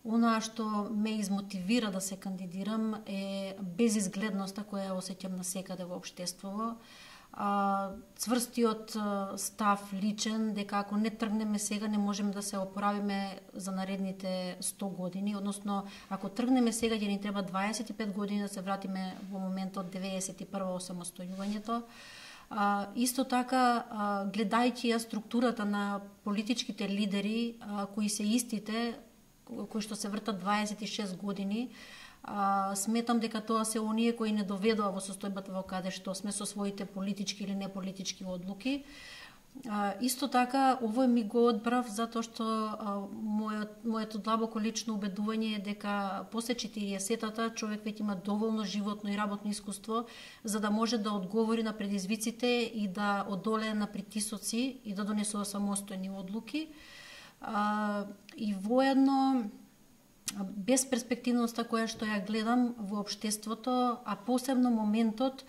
Она што ме измотивира да се кандидирам е безизгледноста која осеќам насекаде во општеството. Цврстиот став личен дека ако не тргнеме сега не можеме да се опоравиме за наредните 100 години, односно ако тргнеме сега ќе ни треба 25 години да се вратиме во моментот 91 осамостојувањето. Исто така, гледајќи ја структурата на политичките лидери, кои се истите, кои што се вртат 26 години, сметам дека тоа се оние кои не доведоа во состојбата во каде што сме со своите политички или неполитички одлуки. Исто така, овој ми го одбрав затоа што моето длабоко лично убедување е дека после 40-тата човек веќе има доволно животно и работно искуство за да може да одговори на предизвиците и да одолее на притисоци и да донесува самостојни одлуки. И воедно безперспективноста која што ја гледам во општеството, а посебно моментот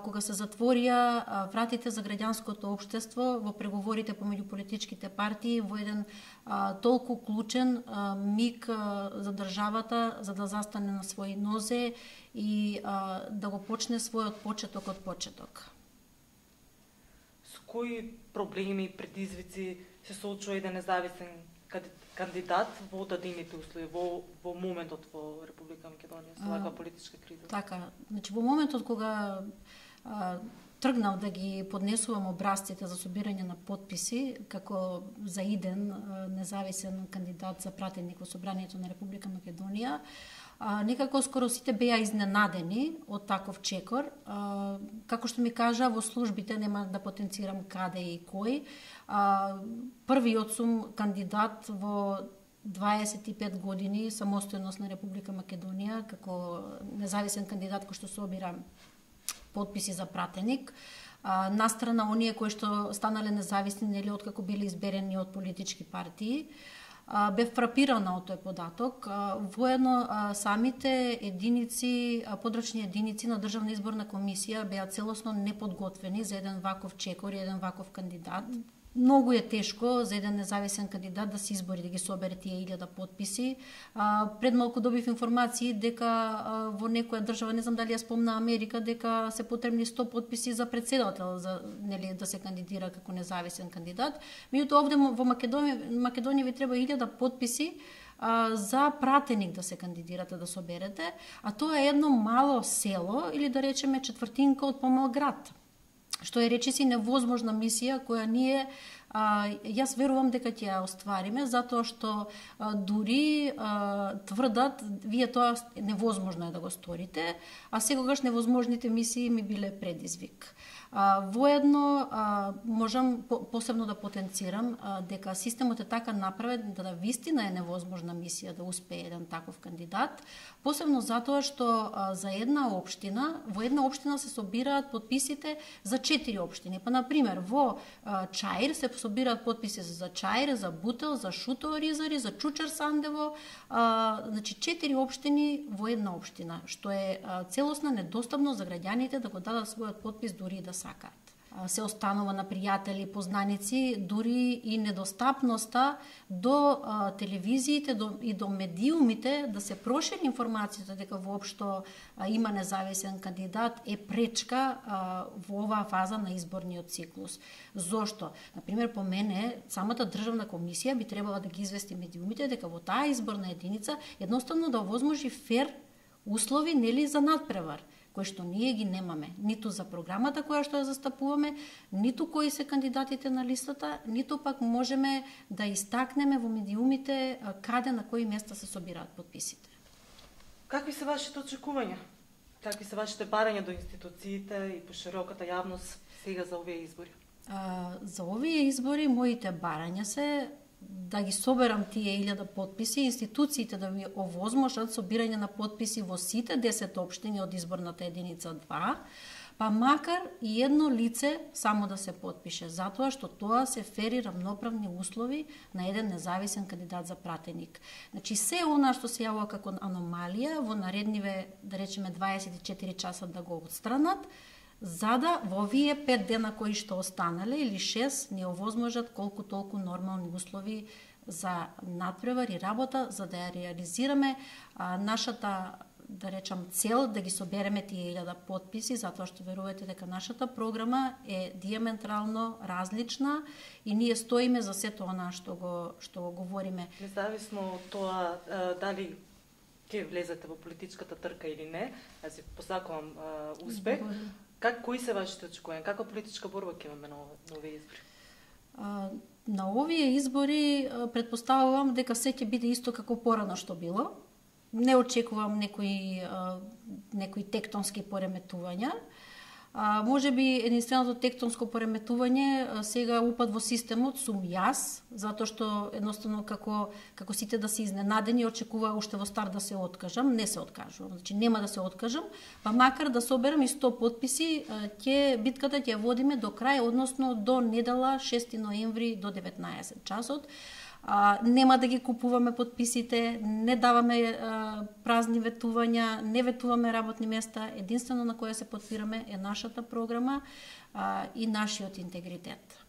кога се затворија вратите за граѓанското општество во преговорите помеѓу политичките партии во еден толку клучен миг за државата за да застане на своји нозе и да го почне својот почеток од почеток. Со кои проблеми и предизвици се соочува еден независен кандидат во дадените услови, во моментот во Република Македонија, со ваква политичка криза? Така, значи во моментот кога тргнав да ги поднесувам образците за собирање на потписи, како за иден независен кандидат за пратеник во Собранието на Република Македонија, некако скоро сите беа изненадени од таков чекор. Како што ми кажа, во службите, нема да потенцирам каде и кој, првиот сум кандидат во 25 години самостојност на Република Македонија, како независен кандидат кој што собира потписи за пратеник, настрана оние кои што станале независни нели откако биле изберени од политички партии. Бев фрапирана од тој податок. Воедно самите единици, подрачни единици на Државна изборна комисија беа целосно неподготвени за еден ваков чекор и еден ваков кандидат. Многу е тешко за еден независен кандидат да се избори да ги собере тие 1000 потписи. Пред малку добив информации дека во некоја држава, не знам дали ја спомна Америка, дека се потребни 100 потписи за претседател за нели да се кандидира како независен кандидат. Меѓутоа овде во Македонија ви треба 1000 потписи за пратеник да се кандидирате да соберете, а тоа е едно мало село или да речеме четвртинка од помал град, што е речиси невозможна мисија која ние јас верувам дека ќе ја оствариме, затоа што дури тврдат вие тоа невозможно е да го сторите, а секогаш невозможните мисии ми биле предизвик. Воедно можам посебно да потенцирам дека системот е така направен да вистина е невозможна мисија да успее еден таков кандидат, посебно затоа што за една општина, во една општина се собираат потписите за 4 општини. Па на пример во Чаир се собираат потписи за Чаир, за Бутел, за Шутово Ризари, за Чучар Сандево, значи 4 општини во една општина, што е целосна недостапно за граѓаните да го дадат својот потпис дури да сакаат. Се останува на пријатели, познаници, дури и недостапноста до телевизиите и до медиумите да се прошири информацијата дека воопшто има независен кандидат е пречка во оваа фаза на изборниот циклус. Зошто? Например, по мене, самата државна комисија би требала да ги извести медиумите дека во таа изборна единица едноставно да овозможи фер услови нели за надпревар, кои што ние ги немаме, ниту за програмата која што ја застапуваме, ниту кои се кандидатите на листата, ниту пак можеме да истакнеме во медиумите каде на кои места се собираат потписите. Какви се вашите очекувања? Какви се вашите барања до институциите и по широката јавност сега за овие избори? За овие избори моите барања се да ги соберам тие 1000 потписи, институциите да ми овозможат собирање на потписи во сите 10 општини од изборната единица 2, па макар и едно лице само да се потпише, затоа што тоа се фери равноправни услови на еден независен кандидат за пратеник. Значи, се она што се јавува како аномалија, во наредниве, да речеме, 24 часа да го отстранат, за да во овие 5 дена кои што останале или 6 не овозможат колку толку нормални услови за надпревар и работа за да ја реализираме нашата, да речам, цел да ги собереме тие 1000 потписи, затоа што верувате дека нашата програма е диаметрално различна и ние стоиме за сето она што го говориме. Независно од тоа дали ќе влезете во политичката трка или не, јас ви посакувам успех. Кои се вашите очекувања? Каква политичка борба ќе имаме на овие избори? На овие избори претпоставувам дека се ќе биде исто како порано што било. Не очекувам некои тектонски пореметувања. Може би единственото тектонско пореметување сега упад во системот сум јас, затоа што едноставно како сите да се изненадени очекува уште во старт да се откажам, не се откажувам. Значи нема да се откажам, па макар да соберам и 100 потписи, битката ќе водиме до крај, односно до недела 6 ноември до 19 часот. Нема да ги купуваме потписите, не даваме празни ветувања, не ветуваме работни места, единствено на која се потпираме е нашата програма и нашиот интегритет.